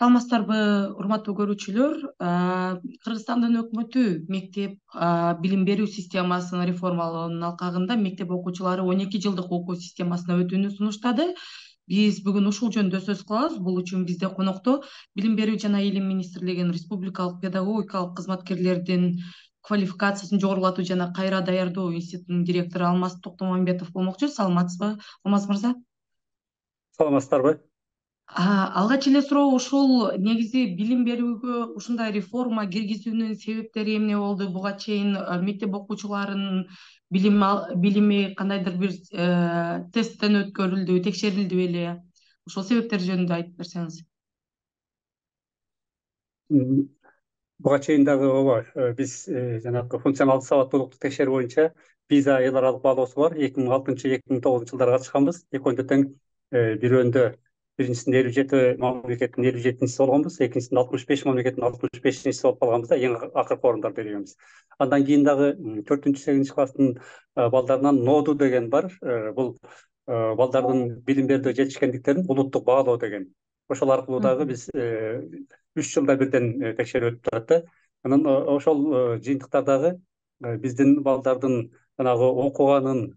Саламатсыздарбы, урматтуу көрүүчүлөр. Кыргызстандын өкмөтү мектеп билим берүү системасын реформалоонун алкагында мектеп окуучулары 12 жылдык окуу системасына өтүүнү сунуштады. Биз бүгүн ушул жөнүндө сөз кылабыз. Бул үчүн бизде конокто Билим берүү жана илим министрлигинин республикалык педагогикалык кызматкерлердин квалификациясын жогорулатуу жана кайра даярдоо институтунун директору Алмаз Токтомамбетов болмокчу. Саламатсызбы, Алмаз мырза? Саламатсыздарбы? Алгач эле суроо ушул негизи билим берүүгө ушундай реформа киргизүүнүн себептери эмне болду? Буга чейин мектеп окуучуларынын билими кандайдыр бир тесттен өткөрүлдү, текшерилди беле? Ошол себептер жөнүндө айтып берсеңиз. Буга чейин дагы ооба биз жанагы функционалдык сабаттуулукту текшерүү боюнча PISA эл аралык баалоосу бар. 2006-2009 жылдары катышканбыз. Экөөндө тең бирөөндө биринчисинде 57 мамлекеттин 57-чиси болгонбуз, экинчисинде 65 мамлекеттин 65-чиси болуп калганбыз да, эң акыркы орундарда ийгенбиз. Андан кийин дагы 4-8 класстын балдарынан ноду деген бар. Бул балдардын билим берүүдө жетишкендиктерин улуттук баалоо деген. Ошол аркылуу дагы биз 3 жылда бирден текшерүү өтүп турат да. Анан ошол жыйынтыктар дагы биздин балдардын жанагы окуганын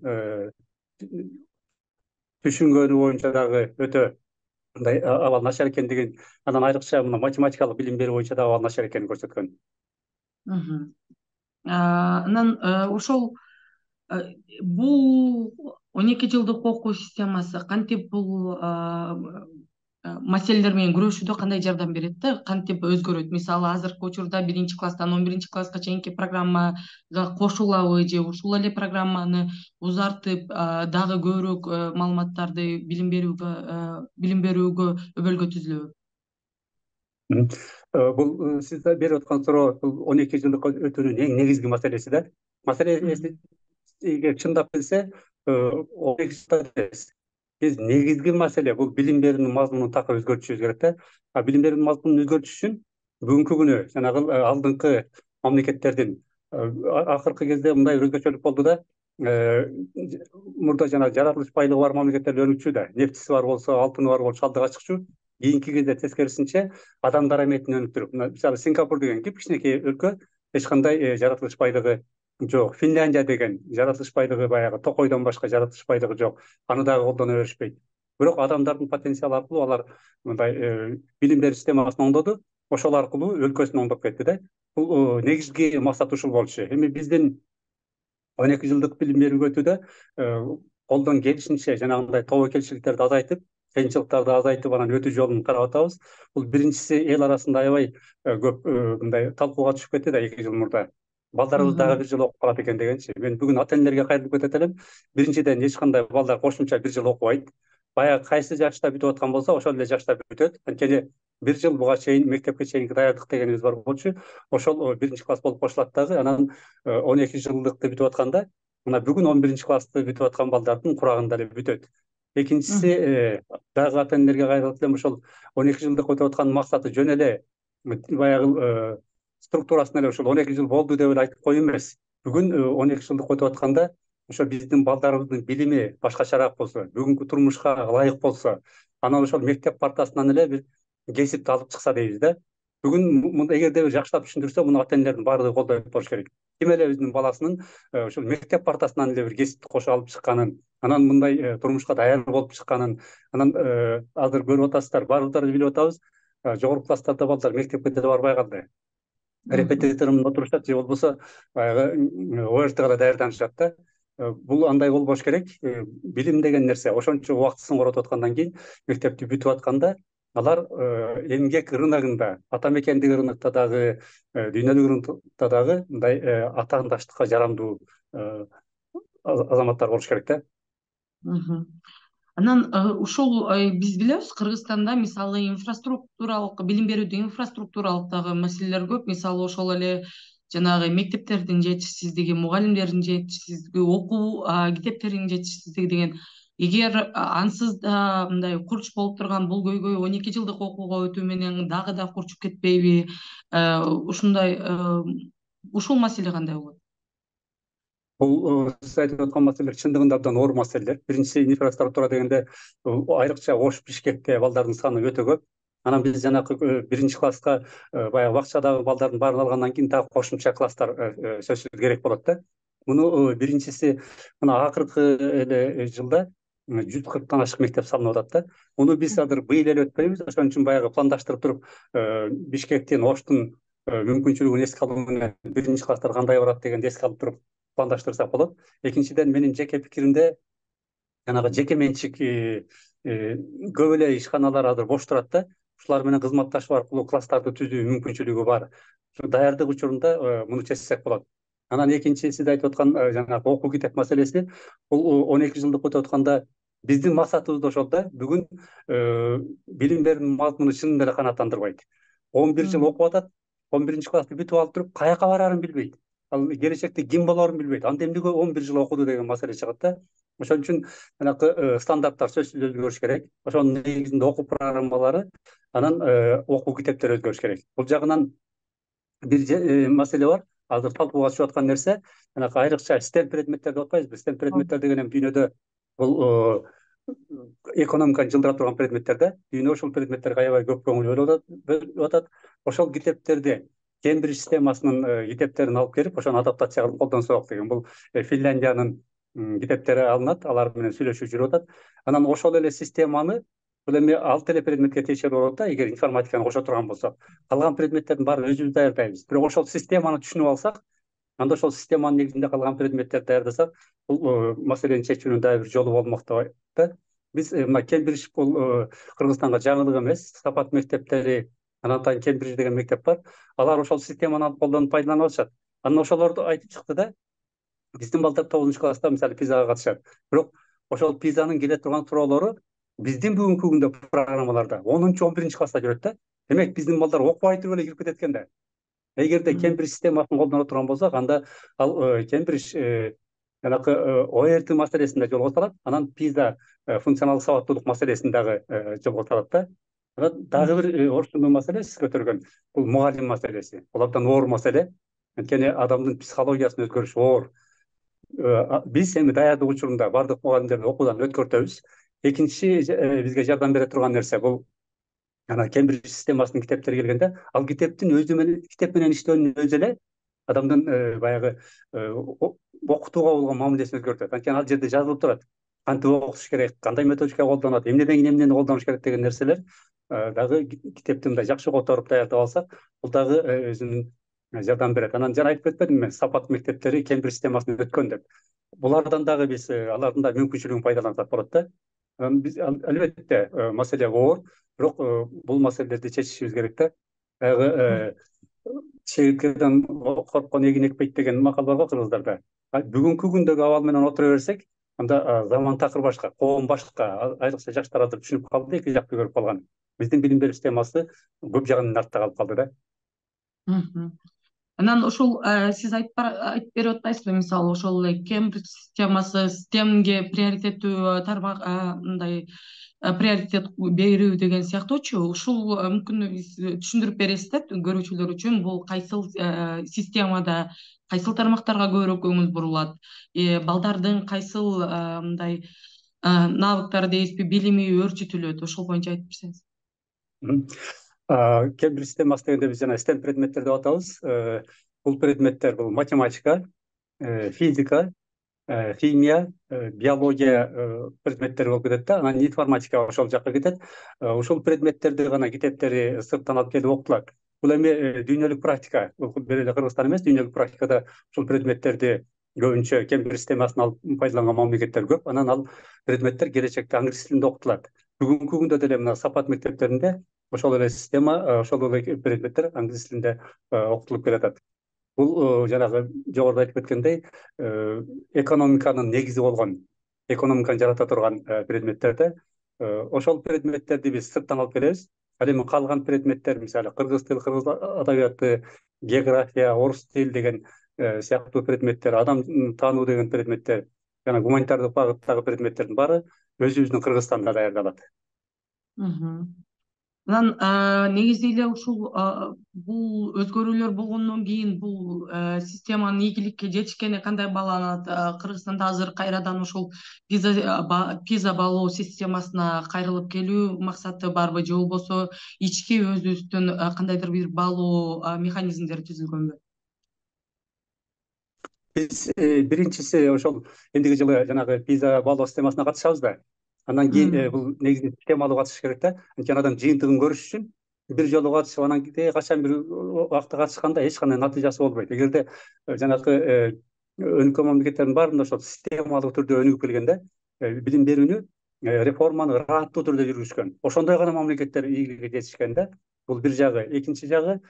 түшүнгөнү боюнча дагы өтө мындай абал начар экендигин, анан айрыкча мына математикалык билим берүү боюнча дагы абал начар экенин көрсөткөн. Анан ошол бул 12 жылдык окуу системасы кантип бул маселелер менен күрөшүүдө кандай жардам берет да, кантип өзгөрөт? Мисалы, азыркы учурда 1-класстан 11-класска чейинки программага кошулабы же ушул эле программаны узартып, дагы көбүрөөк маалыматтарды билим берүүгө өбөлгө түзүлөбү? Бул сиз берип аткан суроо бул 12 жылдык өтүүнүн эң негизги маселеси да. Маселеси чындап келсе 12 жылда эмес. Биз негизги маселе бул билим берүүнүн мазмунун так өзгөртүшүбүз керек да. Билим берүүнүн мазмунун өзгөртүш үчүн бүгүнкү күнү жанагы алдыңкы мамлекеттердин акыркы кезде мындай өзгөчөлүк болду да. Мурда жанагы жаратылыш байлыгы бар мамлекеттер өнүкчү да. Нефтиси бар болсо, алтыны бар болсо алдыга чыкчу. Кийинки кезде тескерисинче адамдар эметин өнүктүрүп, мисалы Сингапур деген кичинекей өлкө, эч кандай жаратылыш байлыгы жок. Финляндия деген жаратылыш байлыгы баягы токойдон башка жаратылыш байлыгы жок. Аны дагы колдоно беришпейт. Бирок адамдардын потенциалы аркылуу алар мындай билим берүү системасын оңдоду. Ошол аркылуу өлкөсүн оңдоп кетти да. Бул негизги максат ушул болчу. Эми биздин 12 жылдык билим берүүгө өтүүдө колдон келишинче жанагындай тобокелчиликтерди азайтып, кыйынчылыктарды азайтып, анан өтүү жолун карап атабыз. Бул биринчиси эл арасында аябай көп мындай талкууга түшүп кетти да 2 жыл мурда. Балдарыбыз дагы 1 жыл окуп калат экен дегенчи. Мен бүгүн ата энелерге кайрылып кетет элем. Биринчиден эч кандай балдар кошумча 1 жыл окубайт. Баягы кайсы жашта бүтүп аткан болсо, ошол эле жашта бүтөт. Анткени 1 жыл буга чейин мектепке чейинки даярдык дегенибиз бар болчу. Ошол 1-класс болуп кошулат дагы. Анан 12 жылдыкты бүтүп атканда, мына бүгүн 11-классты бүтүп аткан балдардын курагында эле бүтөт. Экинчиси дагы ата энелерге кайрылып элем, ошол 12 жылдык өтүп аткан максаты жөн эле баягы структурасын эле ошол 12 жыл болду деп эле айтып коюу эмес. Бүгүн 12 жылдык өтүп атканда ошо биздин балдарыбыздын билими башкачараак болсо, бүгүнкү турмушка ылайык болсо, анан ошол мектеп партасынан эле бир кесипти алып чыкса дейбиз да. Бүгүн эгерде бир жакшылап түшүндүрсө, муну ата энелердин баардыгы колдоп болуш керек. Ким эле өзүнүн баласынын ошол мектеп партасынан эле бир кесипти кошо алып чыкканын, анан мындай турмушка даяр болуп чыкканын, анан азыр көрүп атасыздар, баарыбыздар билип атабыз, жогорку класстарда балдар мектепке деле барбай калды. Репетиторунда отурушат же болбосо баягы ОРТга даярданышат да. Бул андай болбош керек. Билим деген нерсе ошончо убактысын коротуп аткандан кийин, мектепти бүтүп атканда алар эмгек рыногунда, ата мекендик рынокто дагы, дүйнөлүк рынокто дагы мындай атаандаштыкка жарамдуу азаматтар болуш керек да. Анан ушул биз билебиз, Кыргызстанда мисалы инфраструктуралык билим берүүдө инфраструктуралык дагы маселелер көп. Мисалы ошол эле жанагы мектептердин жетишсиздиги, мугалимдердин жетишсиздиги, окуу китептеринин жетишсиздиги деген. Эгер ансыз да мындай курч болуп турган бул көйгөй 12 жылдык окууга өтүү менен дагы да курчуп кетпейби? Ушундай ушул маселе кандай болот? Бул сиз айтып аткан маселелер чындыгында абдан оор маселелер. Биринчиси инфраструктура дегенде айрыкча Ош, Бишкекте балдардын саны өтө көп. Анан биз жанагы биринчи класска баягы бакчадагы балдардын баарын алгандан кийин дагы кошумча класстар сөзсүз керек болот да. Муну биринчиси мына акыркы эле жылда 140 ашык мектеп салынып атат да. Муну биз азыр быйыл эле өтпөйбүз. Ошон үчүн баягы пландаштырып туруп, Бишкектин, Оштун мүмкүнчүлүгүн эске алуу менен биринчи класстар кандай барат дегенди эске алып туруп пландаштырсак болот. Экинчиден, менин жеке пикиримде жанагы жеке менчик көп эле ишканалар азыр бош турат да. Ушулар менен кызматташуу аркылуу класстарды түзүү мүмкүнчүлүгү бар. Даярдык учурунда муну чечсек болот. Анан экинчи сиз айтып аткан жанагы окуу китеп маселеси, бул 12 жылдык өтүп атканда биздин максатыбыз да ошол да. Бүгүн билим берүүнүн мазмуну чынында эле канааттандырбайт. 11 жыл окуп атат, 11 классты бүтүп алып туруп каяка барарын билбейт. Ал келечекте ким болорун билбейт. Анда эмнеге 11 жыл окуду деген маселе чыгат да. Ошон үчүн жанагы стандарттар сөзсүз өзгөрүш керек. Ошонун негизинде окуу программалары, анан окуу китептери өзгөрүш керек. Бул жагынан бир маселе бар. Азыр талкууга чыгып аткан нерсе, жанагы айрыкча STEM предметтер деп атпайбызбы? STEM предметтер деген эми дүйнөдө бул экономиканы жылдыра турган предметтер да. Дүйнө ушул предметтерге аябай көп көңүл бөлүп атат. Ошол китептерди Кембридж системасынын китептерин алып келип, ошону адаптация кылып колдонсок деген. Бул Финляндиянын китептери алынат, алар менен сүйлөшүү жүрүп атат. Анан ошол эле системаны бул эми 6 эле предметке тиешелүү болот да, эгер информатиканы кошо турган болсок. Калган предметтердин баарын өзүбүз даярдайбыз. Бирок ошол системаны түшүнүп алсак, анда ошол системанын негизинде калган предметтерди даярдасак, бул маселени чечүүнүн дагы бир жолу болмок да. Биз мына Кембридж бул Кыргызстанга жаңылык эмес. Сапат мектептери, анан атайын Кембридж деген мектеп бар. Алар ошол системаны алып колдонуп пайдаланып атышат. Анан ошолорду айтып чыкты да. Биздин балдар 9-класста мисалы пизага катышат. Бирок ошол пизанын келе турган суроолору биздин бүгүнкү күндө программаларда 10-11 класста жүрөт да. Демек биздин балдар окубай туруп эле кирип кетет экен да. Эгерде Кембридж системасын колдоно турган болсок, анда ал Кембридж жанагы ОРТ маселесинде жолго салат, анан пиза функционалдык сабаттуулук маселесин дагы жолго салат да. Анан дагы бир орчундуу маселе сиз көтөргөн бул мугалим маселеси. Бул абдан оор маселе. Анткени адамдын психологиясынын өзгөрүшү оор. Биз эми даярдык учурунда бардык мугалимдерди окуудан өткөртөбүз. Экинчи бизге жардам бере турган нерсе бул жана Кембридж системасынын китептери келгенде, ал китептин өзү менен китеп менен иштөөнүн өзү эле адамдын баягы окутууга болгон мамилесин өзгөртөт. Анткени ал жерде жазылып турат. Кантип окутуш керек, кандай методика колдонот, эмнеден кийин эмнени колдонуш керек деген нерселер дагы китепти мындай жакшы которуп даярдап алсак, бул дагы өзүнүн жардам берет. Анан жана айтып кетпедимби мен, сапат мектептери Кембридж системасын өткөн деп. Булардан дагы биз алардын да мүмкүнчүлүгүн пайдалансак болот да. Биз албетте маселе оор, бирок бул маселелерди чечишибиз керек да. Баягы чегирткеден корккон эгин экпейт деген макал бар го кыргыздарда. Бүгүнкү күндөгү абал менен отура берсек, анда заман такыр башка, коом башка. Айрыкча жаштар азыр түшүнүп калды, эки жакты көрүп калган. Биздин билим берүү системасы көп жагынан артта калып калды да. Анан ошол сиз айтып берип атпайсызбы, мисалы ошол эле Кембридж системасы системге приоритеттүү тармак мындай приоритет берүү деген сыяктуучу, ушул мүмкүн түшүндүрүп бересиз да көрүүчүлөр үчүн, бул кайсыл системада кайсыл тармактарга көбүрөөк көңүл бурулат, балдардын кайсыл мындай навыктары дейбизби, билими өөрчүтүлөт, ошол боюнча айтып берсеңиз. Кембридж системасы дегенде биз жана STEM предметтер деп атабыз. Бул предметтер бул математика, физика, химия, биология предметтери болуп кетет да. Анан информатика ошол жакка кетет. Ушул предметтерди гана китептери сырттан алып келип окутулат. Бул эми дүйнөлүк практика. Бир эле Кыргызстан эмес, дүйнөлүк практикада ушул предметтерди көбүнчө Кембридж системасын алып пайдаланган мамлекеттер көп. Анан ал предметтер келечекте англис тилинде окутулат. Бүгүнкү күндө деле мына сапат мектептеринде ошол эле система, ошол эле предметтер англис тилинде окутулуп келатат. Бул жанагы жогоруда айтып кеткендей, экономиканын негизи болгон, экономиканы жарата турган предметтерде ошол предметтерди биз сырттан алып келебиз. Ал эми калган предметтер, мисалы кыргыз тил, кыргыз адабияты, география, орус тил деген сыяктуу предметтер, адам таануу деген предметтер, жана гуманитардык багыттагы предметтердин баары өзүбүздүн Кыргызстанда даярдалат. Анан негизи эле ушул бул өзгөрүүлөр болгондон кийин бул системанын ийгиликке жетишкени кандай бааланат? Кыргызстанда азыр кайрадан ушул пиза баалоо системасына кайрылып келүү максаты барбы, же болбосо ички өзүбүздүн кандайдыр бир баалоо механизмдери түзүлгөнбү? Биз биринчиси ошол эндиги жылы жанагы пиза баалоо системасына катышабыз да. Андан кийин бул негизи системалуу катышыш керек да. Анткени адам жыйынтыгын көрүш үчүн бир жолу катышып, анан качан бир убакта катышканда эч кандай натыйжасы болбойт. Эгерде жанагы өнүккөн мамлекеттердин баарында ошол системалуу түрдө өнүгүп келгенде билим берүүнү реформаны ыраттуу түрдө жүргүзүшкөн. Ошондой гана мамлекеттер ийгиликке жетишкен да. Бул бир жагы. Экинчи жагы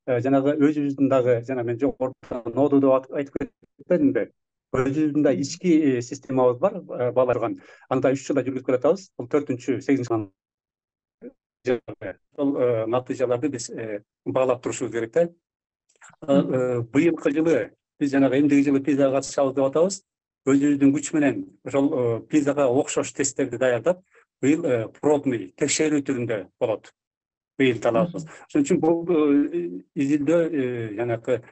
жанагы өзүбүздүн дагы жана мен жогоруда ноду деп айтып кетпедимби? Өзүбүздүн да ички системабыз бар, бааларган. Аны да 3 жылда жүргүзүп келатабыз. Бул 4-8 ошол натыйжаларды биз баалап турушубуз керек да. Быйылкы жылы биз жанагы эмдиги жылы пизага катышабыз деп атабыз. Өзүбүздүн күч менен ошол пизага окшош тесттерди даярдап, быйыл пробный текшерүү түрүндө болот. Быйыл талабыбыз. Ошон үчүн бул изилдөө жанагы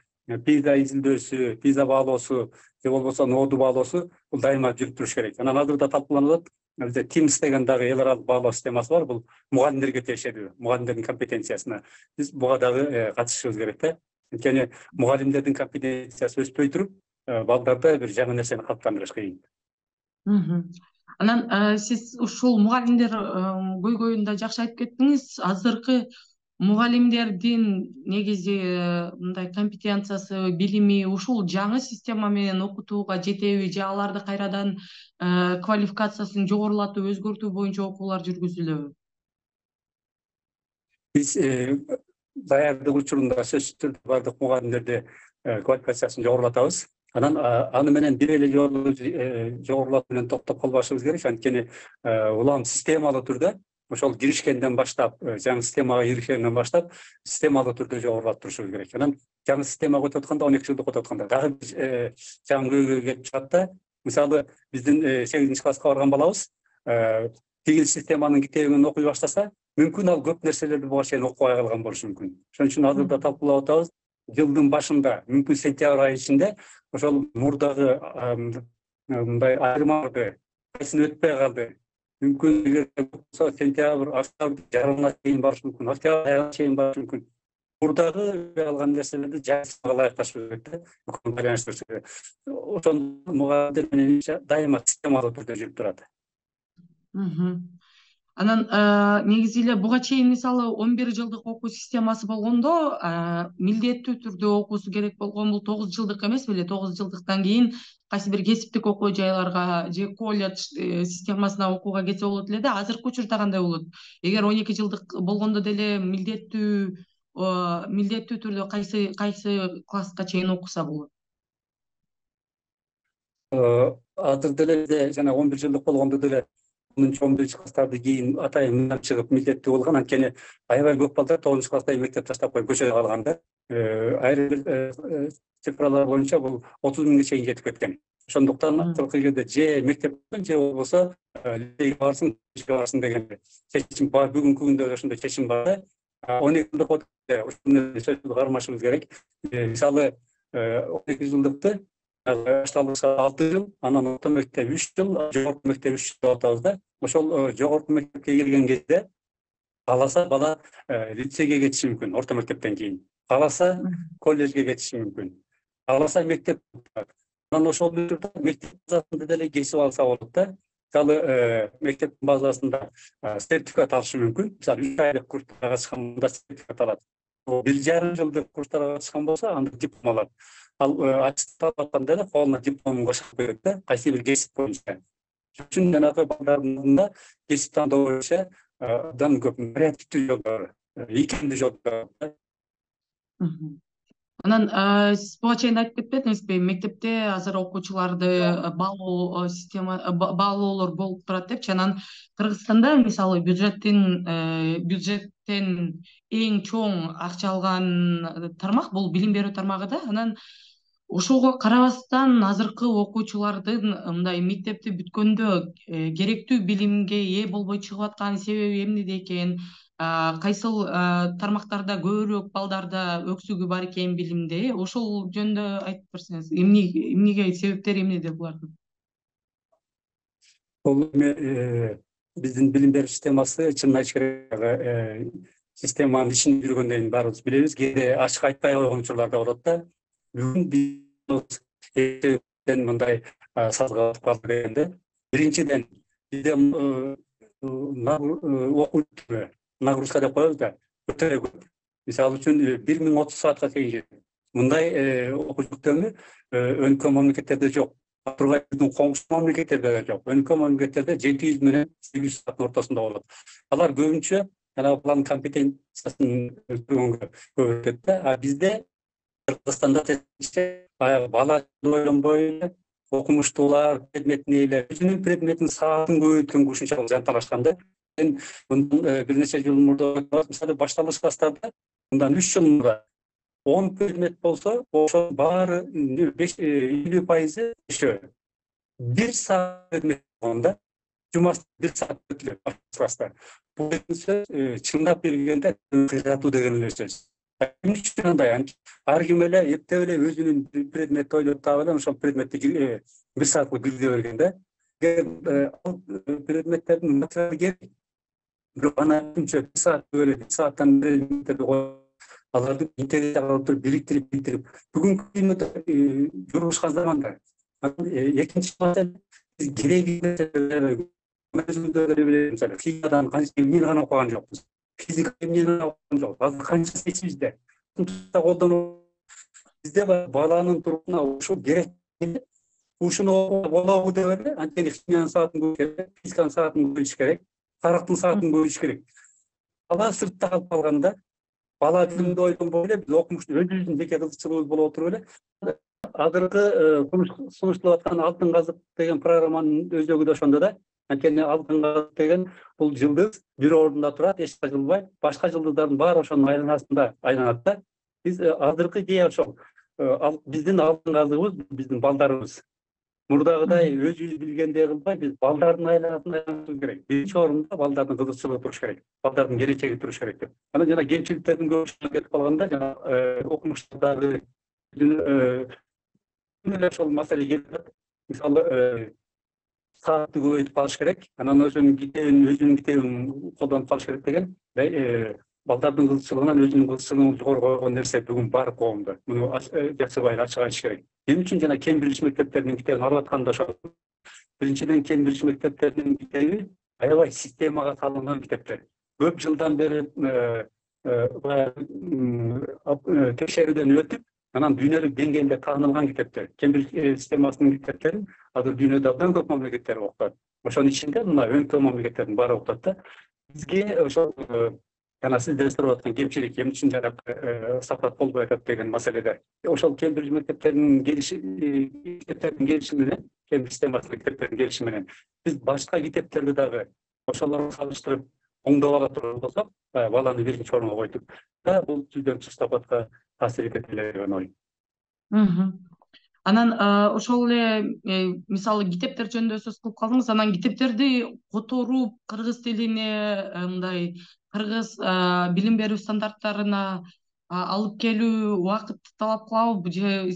пиза изилдөөсү, пиза баалоосу же болбосо ноду баалоосу бул дайыма жүрүп туруш керек. Анан азырда талкууланып атат. Бизде TIMSS деген дагы эл аралык баалоо системасы бар. Бул мугалимдерге тиешелүү, мугалимдердин компетенциясына. Биз буга дагы катышышыбыз керек да. Анткени мугалимдердин компетенциясы өспөй туруп, балдарда бир жаңы нерсени калыптандырыш кыйын. Анан сиз ушул мугалимдер көйгөйүн да жакшы айтып кеттиңиз. Азыркы мугалимдердин негизи мындай компетенциясы, билими ушул жаңы система менен окутууга жетеби, же аларды кайрадан квалификациясын жогорулатып өзгөртүү боюнча окуулар жүргүзүлөбү? Биз даярдык учурунда сөзсүз түрдө бардык мугалимдерди квалификациясын жогорулатабыз. Анан аны менен бир эле жолу жогорулатуу менен токтоп калбашыбыз керек. Анткени улам системалуу түрдө ошол киришкенден баштап, жаңы системага киришкенден баштап, системалуу түрдө жогорулатып турушубуз керек. Анан жаңы системага өтүп атканда, 12 жылдык өтүп атканда дагы жаңы көйгөй келип чыгат да. Мисалы, биздин 8-класска барган балабыз тигил системанын китебин окуй баштаса, мүмкүн ал көп нерселерди буга чейин окубай калган болушу мүмкүн. Ошон үчүн азырда талкуулап атабыз. Жылдын башында, мүмкүн сентябрь айы ичинде ошол мурдагы мындай айырмаларды кайсын өтпөй калды. Мүмкүн эгер болсо сентябрь, октябрь жарымына чейин барышы мүмкүн, октябрь айына чейин барышы мүмкүн. Мурдагы алган нерселерди жайсызга ылайыкташып керек да, байланыштырыш керек. Ошон мугалимдер менен дайыма системалуу түрдө жүрүп турат. Анан негизи эле буга чейин мисалы 11 жылдык окуу системасы болгондо милдеттүү түрдө окуусу керек болгон бул 9 жылдык эмес беле? 9 жылдыктан кийин кайсы бир кесиптик окуу жайларга же колледж системасына окууга кетсе болот эле да. Азыркы учурда кандай болот? Эгер 12 жылдык болгондо деле милдеттүү түрдө кайсы класска чейин окуса болот? Азыр деле жана 11 жылдык болгондо деле 10-11 класстарды кийин атайын мындан чыгып милдеттүү болгон. Анткени аябай көп балдар 9 класста мектеп таштап коюп көчөдө калган да. Айрым бир цифралар боюнча бул 30 миңге чейин жетип кеткен. Ошондуктан акыркы жерде же мектеп же болбосо лицейге барсын деген чечим бар. Бүгүнкү күндө ошондой чечим бар да. 12 жылдык ошону кармашыбыз керек. Мисалы 12 жылдыкты башталышка 6 жыл, анан орто мектеп 3 жыл, жогорку мектеп 3 жыл деп атабыз да. Ошол жогорку мектепке келген кезде кааласа бала лицейге кетиши мүмкүн орто мектептен кийин. Кааласа колледжге кетиши мүмкүн. Кааласа мектеп. Анан ошол учурда мектеп базасында деле кесип алса болот да. Мисалы мектеп базасында сертификат алышы мүмкүн. Мисалы 3 айлык курстарга катышканда сертификат алат. 1,5 жылдык курстарга катышкан болсо анда диплом алат. Ал аттестат атканда эле колуна дипломун кошуп берет да, кайсы бир кесип боюнча. Үчүн жанагы балдардын алдында кесип тандоо боюнча абдан көп вариативдүү жолдор, ийкемдүү жолдор. Анан сиз буга чейин айтып кетпедиңизби? Мектепте азыр окуучуларды баалоолор болуп турат депчи. Анан Кыргызстанда мисалы бюджеттен эң чоң акча алган тармак бул билим берүү тармагы да. Анан ошого карабастан азыркы окуучулардын мындай мектепти бүткөндө керектүү билимге ээ болбой чыгып аткан себеби эмнеде экен? кайсыл тармактарда көбүрөөк балдарда өксүгү бар экен билимде, ошол жөнүндө айтып берсеңиз, эмнеге себептери эмнеде булардын? Бул биздин билим берүү системасы чынын айтыш керек, системанын ичинде жүргөндөн кийин баарыбыз билебиз, кээде ачык айтпай койгон учурлар да болот да. Бүгүн мындай сазга батып калды дегенде, биринчиден бизде окуу нагрузка деп коебуз да, өтө көп. Мисалы үчүн 1030 саатка чейин жетет. Мындай окуу жүктөмү өнүккөн мамлекеттерде жок. Тургай биздин коңшу мамлекеттерде да жок. Өнүккөн мамлекеттерде 700 менен 800 сааттын ортосунда болот. Алар көбүнчө баланын компетенциясын өстүргөнгө көп өтөт да. А бизде Кыргызстанда бала ойлонбой эле окумуштуулар, предметтин ээлери өзүнүн предметин саатын көбөйткөнгө ушунчалык жанталашкан да. Мындан бир нече жыл мурда мисалы башталыш класстарда мындан 3 жыл мурда 10 предмет болсо, ошо баары 50% ошо 1 саат предмет болгондо жумасы 1 саат өтүлөт класста. Бул сөз чындап келгенде кыйратуу деген эле сөз. Эмне үчүн андай? Ар ким эле эптеп эле өзүнүн предметти ойлоп таап эле ошол предметти 1 саатка киргизе берген да. Предметтердин материалы керек. Бирок ана үчүнчө 1 саат бөлүп 1 сааттан предметтерди коюп аларды интеграциялап бириктирип бүгүнкү күндө журушкан заманда экинчи маселе кереги мисалы физикадан канча эмнени гана окуган жокпуз, физика эмнени гана окуган жокпуз, азыр канчасы эсибизде колдонуп бизде баланын туруна ушул керек, ушуну окуга болобу деп эле анткени химиянын саатын көбөйтүш керек, физиканын саатын көбөйтүш керек, тарыхтын саатын көбөйтүш керек. Бала сыртта калып калганда бала билимди ойлонбой эле биз окумушту өзүбүздүн жеке кызыкчылыгыбыз боло отуруп эле азыркы сунушталып аткан Алтын казык деген программанын өзөгү да ошондо да. Анткени Алтын казык деген бул жылдыз бир ордунда турат, эч жылбайт, башка жылдыздардын баары ошонун айланасында айланат да. Биз азыркы идея ошол. Биздин алтын казыгыбыз биздин балдарыбыз. Мурдагыдай өзүбүз билгендей кылбай, биз балдардын айланасында айланышыбыз керек. Биринчи орунда балдардын кызыкчылыгы туруш керек, балдардын келечеги туруш керек деп. Анан жана кемчиликтердин көбүнчөсү кетип калганда жана окумуштардагы ошол маселе келип, мисалы саатты көбөйтүп калыш керек, анан өзүнүн китебин колдонуп калыш керек деген балдардын кызыкчылыгынан өзүнүн кызыкчылыгын жогору койгон нерсе бүгүн бар коомдо. Муну жакшыбай ачык айтыш керек. Эмне үчүн жана Кембридж мектептеринин китебин алып аткан да ошол. Биринчиден Кембридж мектептеринин китеби аябай системага салынган китептер. Көп жылдан бери текшерүүдөн өтүп, анан дүйнөлүк деңгээлде таанылган китептер. Кембридж системасынын китептерин азыр дүйнөдө абдан көп мамлекеттер окутат. Ошонун ичинде мына өнүккөн мамлекеттердин баары окутат да. Бизге ошол жана сиздер сурап аткан кемчилик эмне үчүн жанагы сапат болбой атат деген маселеде. Ошол Кембридж мектептеринин келиши менен, Кембридж системасынын китептеринин келиши менен биз башка китептерди дагы ошолорго салыштырып оңдоп ала турган болсок, баланы биринчи орунга койтуп, бул түздөн түз сапатка таасир этет эле деген ой. Анан ошол эле мисалы китептер жөнүндө сөз кылып калдыңыз. Анан китептерди которуп кыргыз тилине мындай кыргыз билим берүү стандарттарына алып келүү убакытты талап кылабы же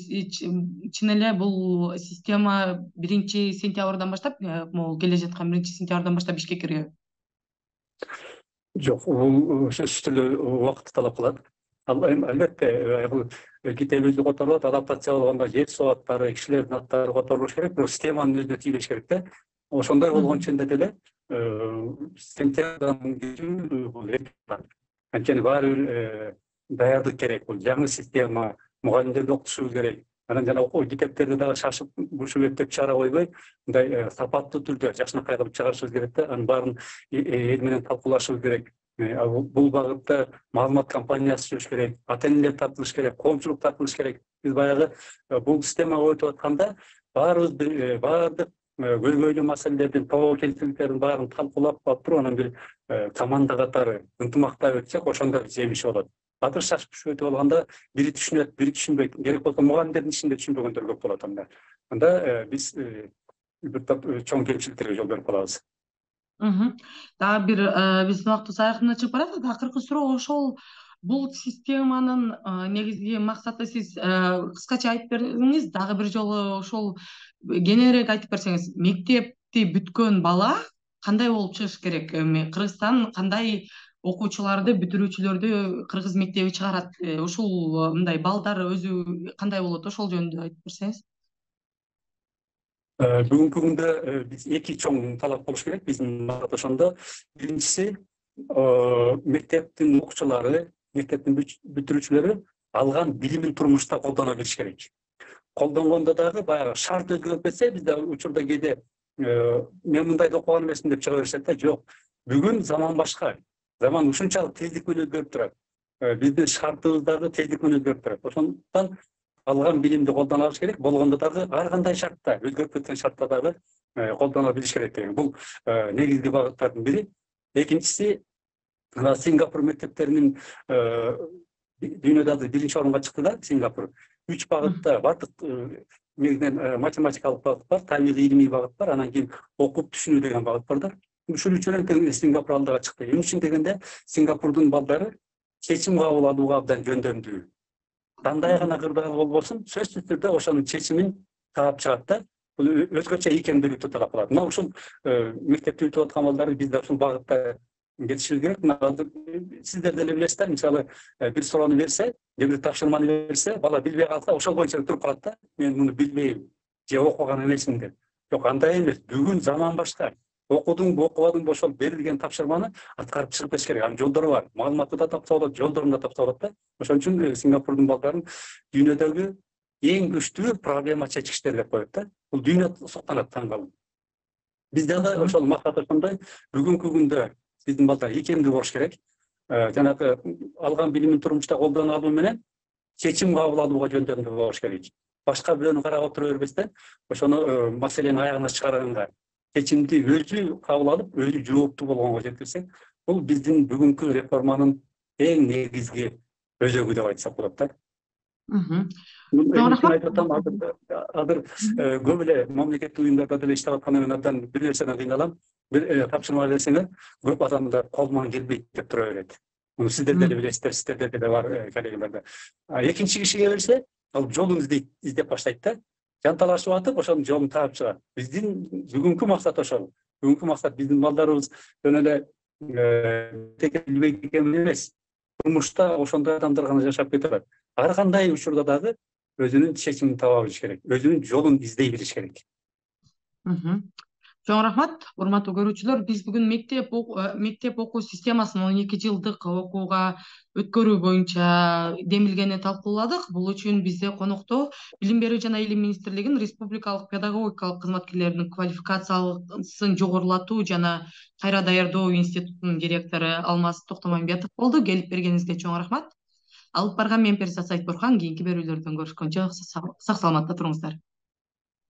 чын эле бул система 1-сентябрдан баштап, могу келе жаткан 1-сентябрдан баштап ишке кирет? Жок, бул сөзсүз түрдө убакытты талап кылат. Албетте, бул китеп өзү которулат, адаптация болгондо жер соаттары, кишилердин аттары которулуш керек, бирок системанын өзүнө тийилиш керек да. Ошондой болгон ченде деле сентябрдан кечүү бул анткени баары бир даярдык керек. Бул жаңы система, мугалимдерди окутушубуз керек. Анан жана окуу китептерди дагы шашып, бушуп эптеп чыгара койбой, мындай сапаттуу түрдө жакшынакай кылып чыгарышыбыз керек да. Анын баарын эл менен талкуулашыбыз керек. Бул багытта маалымат компаниясы жүрүш керек, ата-энелер тартылыш керек, коомчулук тартылыш керек. Биз баягы бул системага өтүп атканда баарыбыз баардык көйгөйлүү маселелердин, тобокелчиликтердин баарын талкуулап алып туруп, анан бир команда катары ынтымактап өтсөк, ошондо жемиши болот. Азыр шашып түшүп өтүп алганда бири түшүнөт, бири түшүнбөйт. Керек болсо мугалимдердин ичинде түшүнбөгөндөр көп болот анда. Анда биз бир топ чоң кемчиликтерге жол берип калабыз. Дагы бир биздин убактыбыз аягына чыгып баратат. Акыркы суроо ошол бул системанын негизги максаты сиз кыскача айтып бериңиз, дагы бир жолу ошол кененирээк айтып берсеңиз, мектепти бүткөн бала кандай болуп чыгыш керек? Эми Кыргызстан кандай окуучуларды, бүтүрүүчүлөрдү кыргыз мектеби чыгарат? Ушул мындай балдар өзү кандай болот? Ошол жөнүндө айтып берсеңиз. Бүгүнкү күндө биз эки чоң талап болуш керек биздин ошондо. Биринчиси, мектептин окуучулары, мектептин бүтүрүүчүлөрү алган билимин турмушта колдоно билиш керек. Колдонгондо дагы баягы шарт өзгөрүп кетсе, бизде учурда кээде мен мындайды окуган эмесмин деп чыга беришет да. Жок, бүгүн заман башка. Заман ушунчалык тездик менен өзгөрүп турат. Биздин шартыбыз дагы тездик менен өзгөрүп турат. Ошондуктан алган билимди колдоно алыш керек. Болгондо дагы ар кандай шартта, өзгөрүп кеткен шартта дагы колдоно билиш керек деген. Бул негизги багыттардын бири. Экинчиси, Сингапур мектептеринин дүйнөдө биринчи орунга чыкты да, Сингапур. 3 багытта бардык негизинен математикалык багыт бар, табигый илимий багыт бар, анан кийин окуп түшүнүү деген багыт бар да. Ушул үчөөнөн Сингапур алдыга чыкты. Эмне үчүн дегенде, Сингапурдун балдары чечим кабыл алууга абдан жөндөмдүү. Кандай гана кырдаал болбосун, сөзсүз түрдө ошонун чечимин таап чыгат да. Бул өзгөчө ийкемдүүлүктү талап кылат. Мына ушул мектепти бүтүп аткан балдар бизде ушул багытта кетишибиз керек. Сиздер деле билесиздер, мисалы бир суроону берсе, же бир тапшырманы берсе, бала билбей калса, ошол боюнча туруп калат да. Мен муну билбейм, же окуган эмесмин деп. Жок, андай эмес. Бүгүн заман башка. Окудуңбу, окубадыңбы, ошол берилген тапшырманы аткарып чыгып кетиш керек. Анын жолдору бар. Маалыматты да тапса болот, жолдорун да тапса болот да. Ошон үчүн Сингапурдун балдарын дүйнөдөгү эң күчтүү проблема чечкичтер деп коет да. Бул дүйнө суктанат таң калып. Бизде да ошол максат ошондой. Бүгүнкү күндө биздин балдар ийкемдүү болуш керек. Жанагы алган билимин турмушта колдоно алуу менен чечим кабыл алууга жөндөмдүү болуш керек. Башка бирөөнү карап отура бербестен, ошону маселени аягына чыгарганга, чечимди өзү кабыл алып, өзү жооптуу болгонго жеткирсек, бул биздин бүгүнкү реформанын эң негизги өзөгү деп айтсак болот да. Азыр көп эле мамлекеттик уюмдарда деле иштеп аткандан кийин абдан бир нерседен кыйналам. Бир тапшырма берсеңер, көп адамдар колунан келбейт деп тура берет. Муну сиздер деле билесиздер, сиздерде деле бар коллегаларда. Экинчи кишиге берсе, ал жолун издеп баштайт да. Жанталашып атып, ошонун жолун таап чыгат. Биздин бүгүнкү максат ошол. Бүгүнкү максат биздин балдарыбыз жөн эле билбейт экен эмес. Турмушта ошондой адамдар гана жашап кете алат. Ар кандай учурда дагы өзүнүн чечимин таба билиш керек, өзүнүн жолун издей билиш керек. Чоң рахмат, урматтуу көрүүчүлөр. Биз бүгүн мектеп окуу системасын 12 жылдык окууга өткөрүү боюнча демилгени талкууладык. Бул үчүн бизде конокто Билим берүү жана илим министрлигинин республикалык педагогикалык кызматкерлеринин квалификациясын жогорулатуу жана кайра даярдоо институтунун директору Алмаз Токтомамбетов болду. Келип бергениңизге чоң рахмат. Алып барган мен Перизат Сайтбурхан. Кийинки берүүлөрдөн көрүшкөнчө сак саламатта туруңуздар.